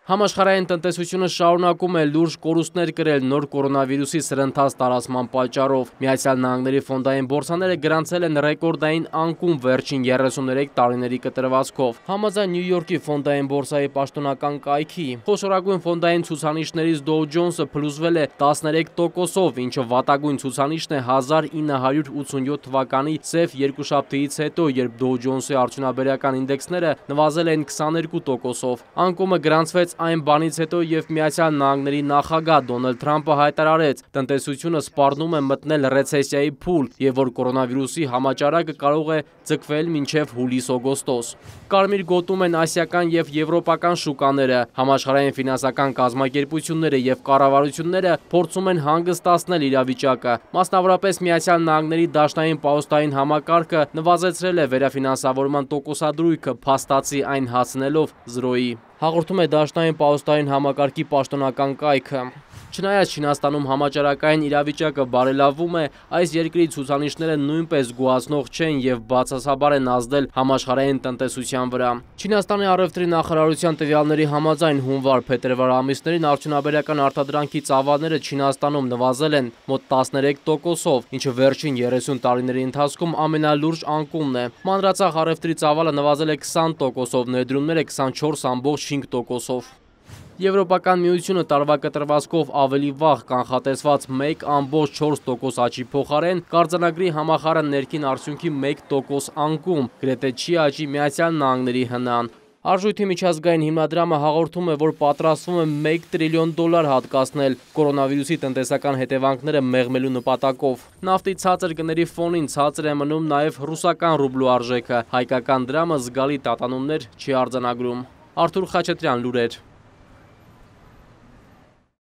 Համաշխարհային տնտեսությունը շարունակում է լուրջ կորուստներ կրել նոր կորոնավիրուսի սրընթաց տարածման պատճառով։ Միացյալ Նահանգների ֆոնդային բորսաները գրանցել են ռեկորդային անկում վերջին 33 տարիների կտրվածքով։ Համաձայն Նյու Յորքի ֆոնդային բորսայի պաշտոնական կայքի, խոշորագույն ֆոնդային ցուցանիշներից Dow Jones-ը փլուզվել է 13%-ով, ինչը վատագույն ցուցանիշն է 1987 թվականի սև երկուշաբթիից հետո, երբ Dow Jones-ի արդյունաբերական ինդեքսները նվազել են 22%-ով։ Անկումը գրանցվեց այն բանից հետո, երբ Միացյալ Նահանգների նախագահ Դոնալդ Թրամփը հայտարարեց, տնտեսությունը սպառնում է մտնել ռեցեսիայի փուլ և որ կորոնավիրուսի համաճարակը կարող է ձգվել մինչև հուլիս-օգոստոս։ Կարմիր գոտում են ասիական և եվրոպական շուկաները, համաշխարհային ֆինանսական կազմակերպությունները և կառավարությունները փորձում են հանգստացնել իրավիճակը։ Մասնավորապես Միացյալ Նահանգների դաշնային պահոստային համակարգը նվազեցրել է վերաֆինանսավորման տոկոսադրույքը, փաստացի այն հասցնելով 0-ի։ Հաղորդում է դաշնային պահոստային համակարգի պաշտոնական կայքը։ Չնայած Չինաստանում համաճարակային իրավիճակը բարելավում է, այս երկրի ցուցանիշները նույնպես գոհացնող չեն և բացասաբար են ազդել համաշխարհային տնտեսության վրա։ Չինաստանի առևտրի նախարարության տվյալների համաձայն հունվար-փետրվար ամիսներին արդյունաբերական արտադրանքի ծավալները Չինաստանում նվազել են մոտ 13%-ով, ինչը վերջին 30 տարիների ընթացքում ամենալուրջ անկումն է։ Մանրածախ առևտրի ծավալը նվազել է 20%-ով, ներդրումները 24.5%-ով։ Եվրոպական միությունը տարվա կտրվածքով ավելի վաղ կանխատեսված 1.4% աճի փոխարեն կարձանագրի համախառն ներքին արդյունքի 1% անկում, գրեթե չի աճի Միացյալ Նահանգների հնան։ Արժույթի միջազգային հիմնադրամը հաղորդում է, որ պատրաստվում է $1 տրիլիոն հատկացնել կորոնավիրուսի տնտեսական հետևանքները մեղմելու նպատակով։ Նավթի ցածր գների ֆոնին ցածր է մնում նաև ռուսական ռուբլու արժեքը, հայկական դրամը զգալի տատանումներ չի արձանագրում։ Արթուր Խաչատրյան, լուրեր։